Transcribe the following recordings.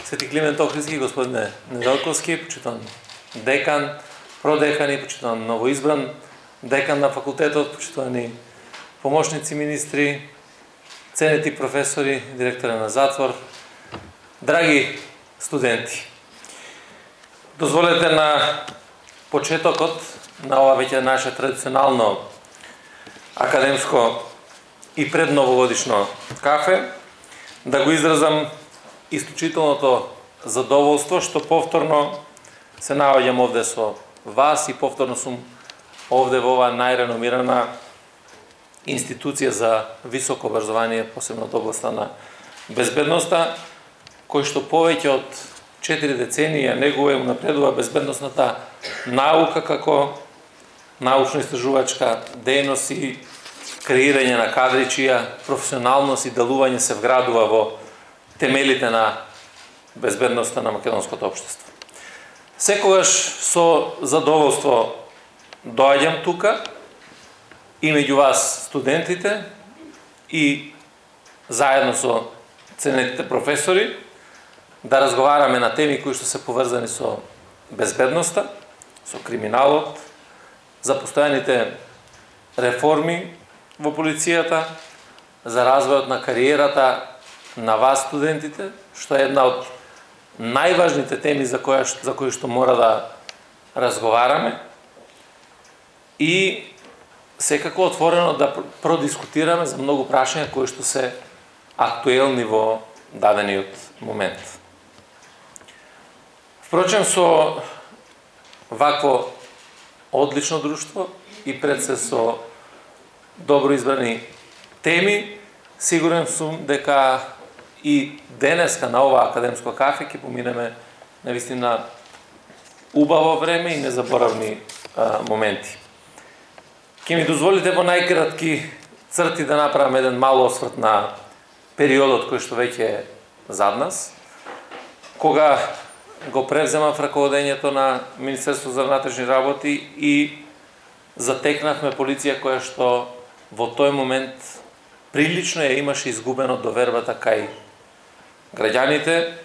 Свети Климент Охридски, господине Неделковски, почитуван декан, продекани, почитуван новоизбран декан на факултетот, почитувани помошници министри, ценети професори, директори на затвор, драги студенти. Дозволете на почетокот на ова веќе наше традиционално академско и предновогодишно кафе да го изразам исклучителното задоволство што повторно се наоѓам овде со вас и повторно сум овде во оваа најреномирана институција за високо образование, посебно од областа на безбедноста, кој што повеќе од 4 децении негува и напредува безбедносната наука како научно-истражувачка дејност и креирање на кадри чија професионалност и делување се вградува во темелите на безбедноста на македонското општество. Секогаш со задоволство доаѓам тука и меѓу вас студентите и заедно со ценетите професори да разговараме на теми кои што се поврзани со безбедноста, со криминалот, за постојаните реформи во полицијата, за развојот на кариерата на вас студентите, што е една од најважните теми за кои што мора да разговараме и секако отворено да продискутираме за многу прашања кои што се актуелни во дадениот момент. Впрочем, со вакво одлично друштво и пред се со добро избрани теми, сигурен сум дека и денеска на ова академско кафе ќе поминеме навистина убаво време и незаборавни моменти. Ќе ми дозволите во најкратки црти да направам еден мал осврт на периодот кој што веќе е зад нас, кога го превземав раководењето на Министерството за внатрешни работи и затекнавме полиција која што во тој момент прилично ја имаше изгубено довербата кај граѓаните,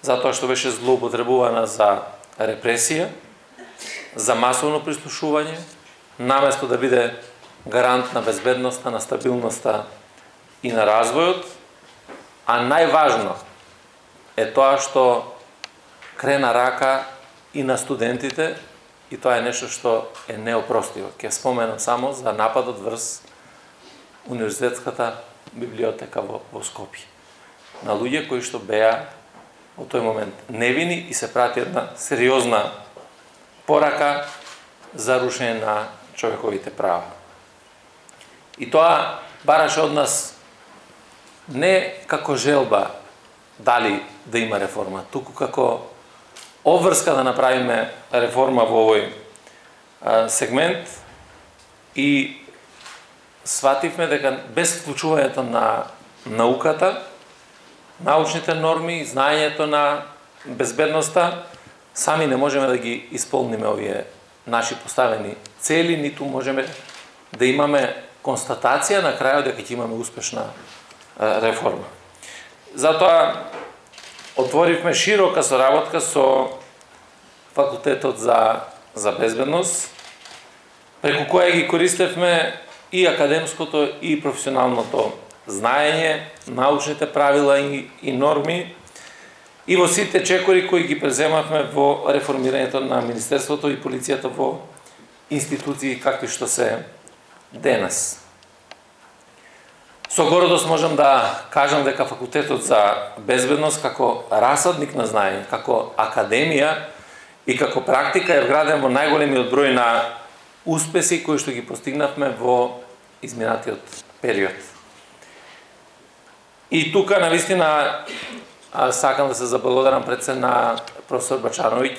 затоа што беше злоупотребувана за репресија, за масовно прислушување, наместо да биде гарант на безбедноста, на стабилноста и на развојот, а најважно е тоа што крена рака и на студентите, и тоа е нешто што е неопростиво. Ќе споменам само за нападот врз Универзитетската библиотека во Скопје. На луѓе кои што беа во тој момент невини и се прати една сериозна порака за рушење на човековите права. И тоа бараше од нас не како желба дали да има реформа, туку како обврска да направиме реформа во овој сегмент и свативме дека без вклучувањето на науката, научните норми, знаењето на безбедноста, сами не можеме да ги исполниме овие наши поставени цели, ниту можеме да имаме констатација на крајот дека ќе имаме успешна реформа. Затоа отворивме широка соработка со факултетот за безбедност, преку која ги користевме и академското и професионалното знаење, научните правила и норми, и во сите чекори кои ги преземавме во реформирањето на Министерството и полицијата во институции какви што се денес. Со гордост можам да кажам дека факултетот за безбедност како расадник на знаење, како академија и како практика е вграден во најголемиот број на успеси кои што ги постигнавме во изминатиот период. И тука навистина сакам да се заблагодарам пред се на професор Бачановиќ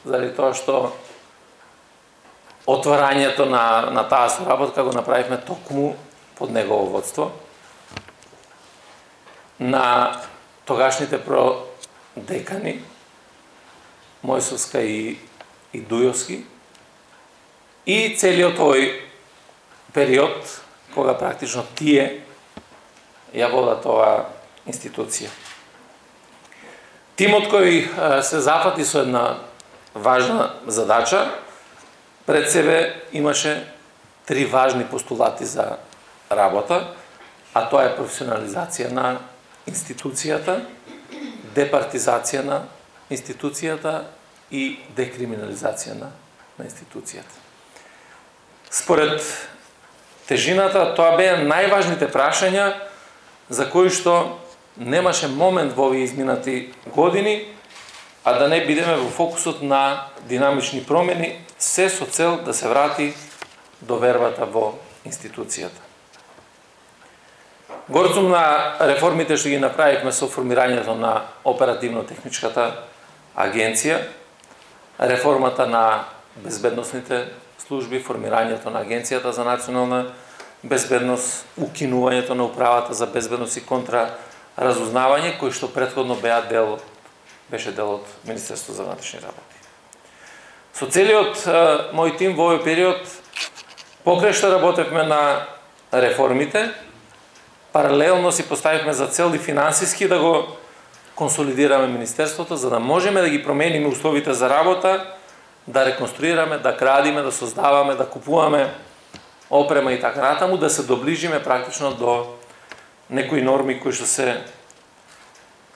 заради тоа што отварањето на таа соработка го направивме токму под негово водство. На тогашните продекани Мојсовска и Дујовски и целиот овој период кога практично тие ја водат оваа институција. Тимот кој се зафати со една важна задача, пред себе имаше 3 важни постулати за работа, а тоа е професионализација на институцијата, департизација на институцијата и декриминализација на институцијата. Според тежината, тоа беа најважните прашања за кои што немаше момент во овие изминати години, а да не бидеме во фокусот на динамични промени, се со цел да се врати довербата во институцијата. Горд сум на реформите што ги направивме со формирањето на оперативно-техничката агенција, реформата на безбедносните служби, формирањето на Агенцијата за национална безбедност, укинувањето на управата за безбедност и контраразузнавање, кои што претходно беше дел од Министерството за внатрешни работи. Со целиот мој тим во овој период покрај што работевме на реформите, паралелно си поставивме за цел и финансиски да го консолидираме Министерството, за да можеме да ги промениме условите за работа, да реконструираме, да градиме, да создаваме, да купуваме опрема и така натаму, да се доближиме практично до некои норми кои што се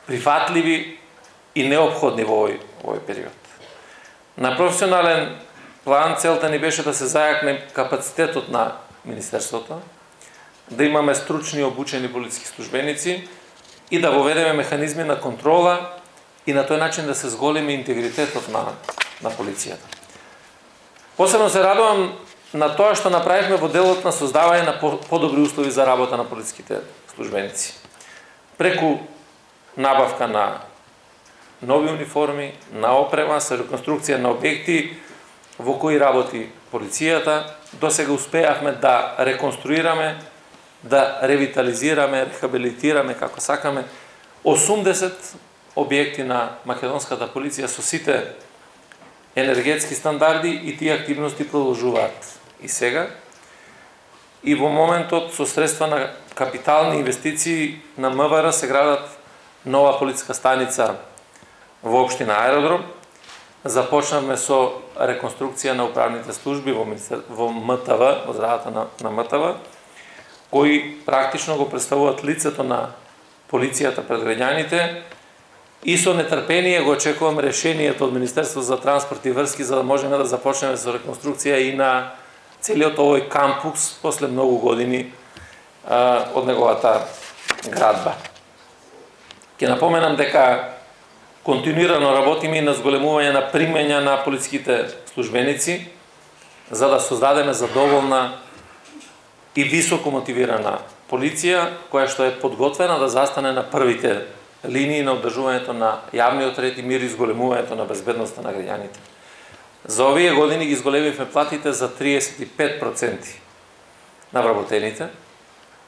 прифатливи и неопходни во овој период. На професионален план целта ни беше да се зајакне капацитетот на Министерството, да имаме стручни обучени полициски службеници и да воведеме механизми на контрола и на тој начин да се зголеми интегритетот на полицијата. Посебно се радувам на тоа што направивме во делот на создавање на подобри услови за работа на полициските службеници. Преку набавка на нови униформи, на опрема, со реконструкција на објекти во кои работи полицијата, досега успеавме да реконструираме, да ревитализираме, рехабилитираме, како сакаме, 80 објекти на македонската полиција со сите енергетски стандарди и тие активности продолжуваат и сега. И во моментот со средства на капитални инвестиции на МВР се градат нова полициска станица во општина Аеродром. Започнавме со реконструкција на управните служби во МТВ, во зградата на МТВ, кои практично го представуваат лицето на полицијата пред граѓаните, и со нетрпение го очекувам решението од Министерството за транспорт и врски за да можеме да започнеме со реконструкција и на целиот овој кампус после многу години од неговата градба. Ќе напоменам дека континуирано работиме и на зголемување на примења на полициските службеници за да создадеме задоволна и високо мотивирана полиција која што е подготвена да застане на првите линии на одржувањето на јавниот ред и мир и зголемувањето на безбедноста на граѓаните. За овие години ги зголемивме платите за 35% на вработените,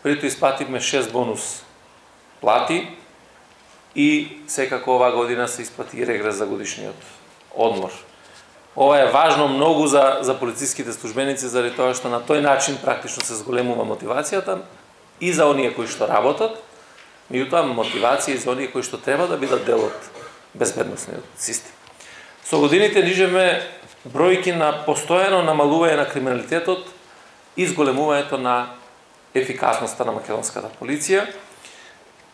притоа исплативме 6 бонус плати и секако оваа година се исплати регрес за годишниот одмор. Ова е важно многу за полициските службеници заради тоа што на тој начин практично се зголемува мотивацијата и за оние кои што работат, меѓутоа мотивација и за оние кои што треба да бидат дел од безбедносниот систем. Со годините нижеме бројки на постојано намалување на криминалитетот и зголемувањето на ефикасноста на македонската полиција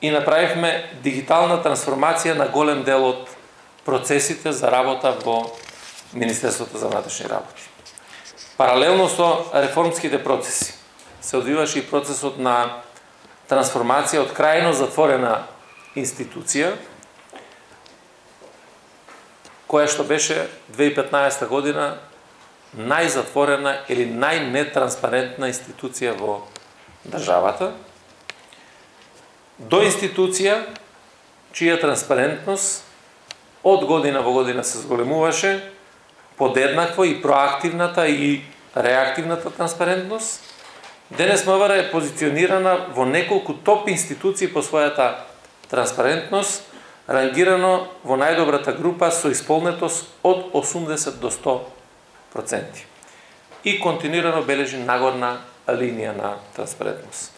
и направивме дигитална трансформација на голем дел од процесите за работа во Министерството за внатрешни работи. Паралелно со реформските процеси се одвиваше и процесот на трансформација од крајно затворена институција, која што беше 2015 година најзатворена или најнетранспарентна институција во државата, до институција чија транспарентност од година во година се зголемуваше, подеднакво и проактивната и реактивната транспарентност. Денес МВР е позиционирана во неколку топ институции по својата транспарентност, рангирано во најдобрата група со исполнетост од 80 до 100% и континуирано бележи нагорна линија на транспарентност.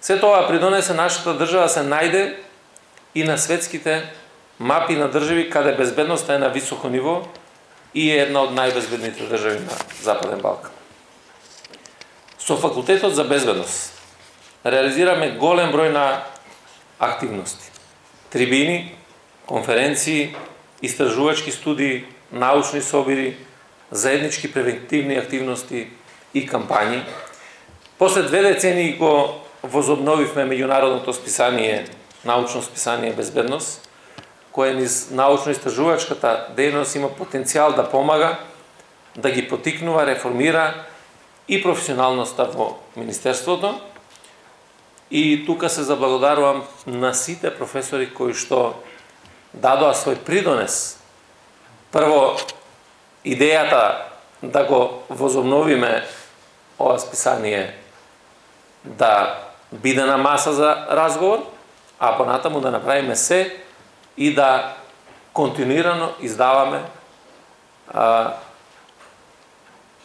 Се тоа придонесе нашата држава се најде и на светските мапи на држави каде безбедноста е на високо ниво и е една од најбезбедните држави на Западен Балкан. Со Факултетот за безбедност реализираме голем број на активности. Трибини, конференции, истражувачки студии, научни собири, заеднички превентивни активности и кампањи. После 2 децении го возобновивме меѓународното списание, научно списание Безбедност, кое низ научно-истражувачката дејност има потенцијал да помага, да ги потикнува, реформира и професионалноста во Министерството. И тука се заблагодарувам на сите професори кои што дадоа свој придонес. Прво, идејата да го возобновиме ова списание да биде на маса за разговор, а понатаму да направиме се и да континуирано издаваме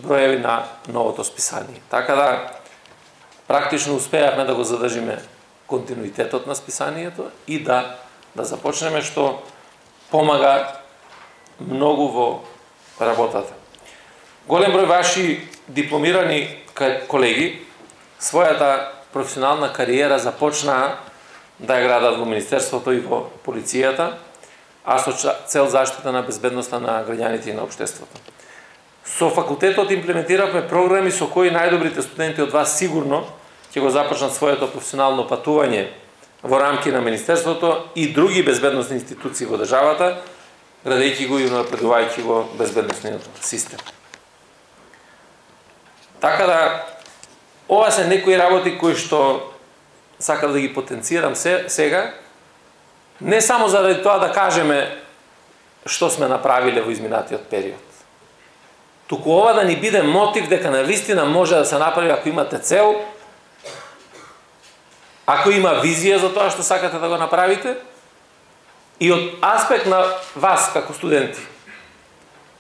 броеви на новото списание. Така да практично успеавме да го задржиме континуитетот на списанието и да започнеме, што помага многу во работата. Голем број ваши дипломирани колеги својата професионална кариера започнаа да ја градат во Министерството и во полицијата, а со цел заштита на безбедноста на граѓаните и на општеството. Со факултетот имплементиравме програми со кои најдобрите студенти од вас сигурно ќе го започнат своето професионално патување во рамки на Министерството и други безбедносни институции во државата, градејќи го и напредувајќи го безбедносниот систем. Така да, ова се некои работи кои што сакам да ги потенцирам сега, не само заради тоа да кажеме што сме направиле во изминатиот период. Туку ова да ни биде мотив дека навистина може да се направи ако имате цел, ако има визија за тоа што сакате да го направите, и од аспект на вас како студенти,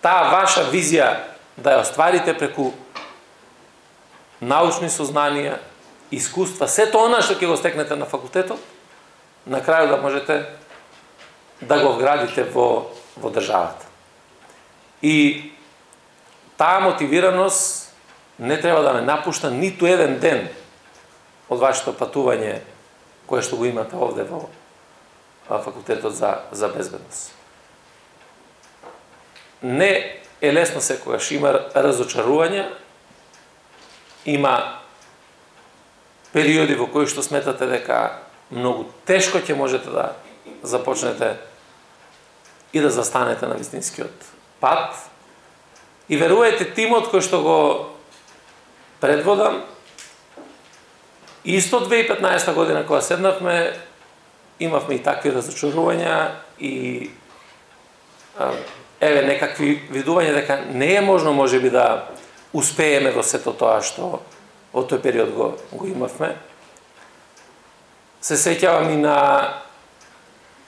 таа ваша визија да ја остварите преку научни сознанија, искуства, сето она што ќе го стекнете на факултетот, на крајот да можете да го вградите во државата. И таа мотивираност не треба да ме напушта ниту еден ден од вашето патување кое што го имате овде во Факултетот за безбедност. Не е лесно секогаш, има разочарувања, има периоди во кои што сметате дека многу тешко ќе можете да започнете и да застанете на вистинскиот пат. И верувајте, тимот кој што го предводам, исто 2015 година кога седнавме, имавме и такви разочарувања и некакви видувања дека не е можно можеби да успееме во сето тоа што во тој период го имавме. Се сеќавам и на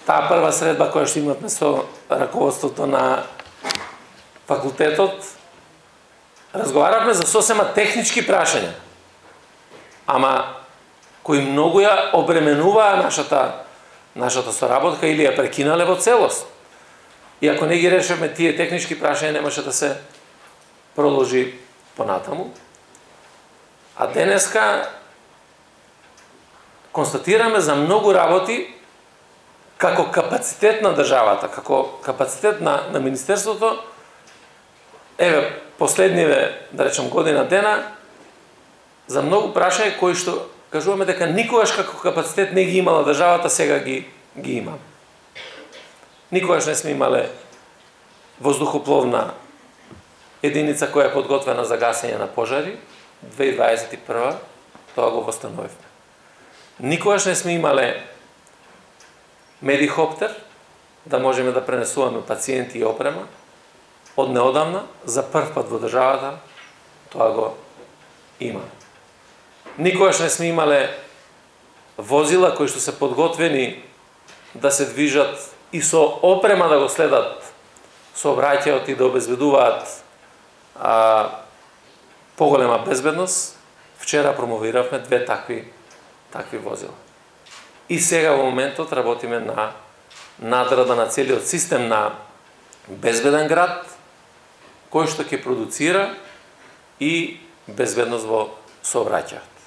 таа прва средба која што имавме со раководството на факултетот. Разговаравме за сосема технички прашања, ама кои многу ја обременуваа нашата соработка или ја прекинале во целост. И ако не ги решавме тие технички прашања, немаше да се продолжи понатаму. А денеска констатираме за многу работи како капацитет на државата, како капацитет на Министерството. Еве, последниве, да речем, година дена, за многу прашања кои што кажуваме дека никогаш како капацитет не ги имала државата, сега ги има. Никогаш не сме имале воздухопловна единица која е подготвена за гасење на пожари. 2021 тоа го восстановивме. Никогаш не сме имале медихоптер да можеме да пренесуваме пациенти и опрема. Од неодамна, за прв пат во државата, тоа го има. Никогаш не сме имале возила кои што се подготвени да се движат и со опрема да го следат сообраќајот и да обезбедуваат поголема безбедност. Вчера промовиравме 2 такви возила. И сега во моментот работиме надграда на целиот систем на безбеден град, кој што ќе продуцира и безбедност во сообраќајот.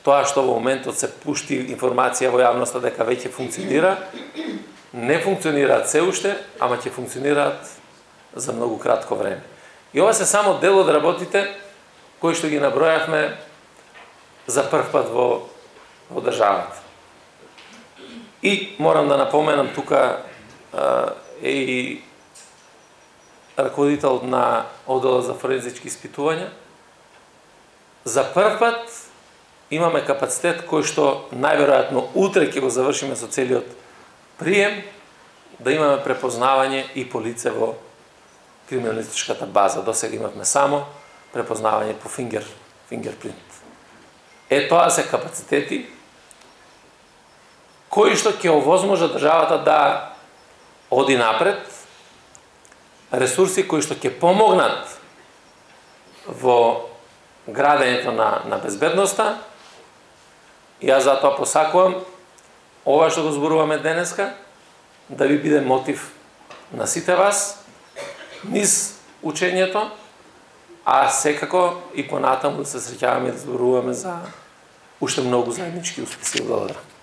Тоа што во моментот се пушти информација во јавноста дека веќе функционира, не функционираат се уште, ама ќе функционираат за многу кратко време. И ова се само дел од работите кои што ги набројавме за прв пат во државата. И морам да напоменам тука е и раководител на одделот за форензички испитувања. За прв пат имаме капацитет кој што најверојатно утре ќе го завршиме со целиот прием, да имаме препознавање и по лице во криминалистичката база. Досега имавме само препознавање по фингерпринт. Тоа се капацитети кои што ќе овозможат државата да оди напред, ресурси кои што ќе помогнат во градењето на безбедноста. И јас затоа посакувам ова што го зборуваме денеска да ви биде мотив на сите вас низ учењето, а секако и понатаму да се среќаваме и да зборуваме за уште многу заеднички успеси. Благодарам.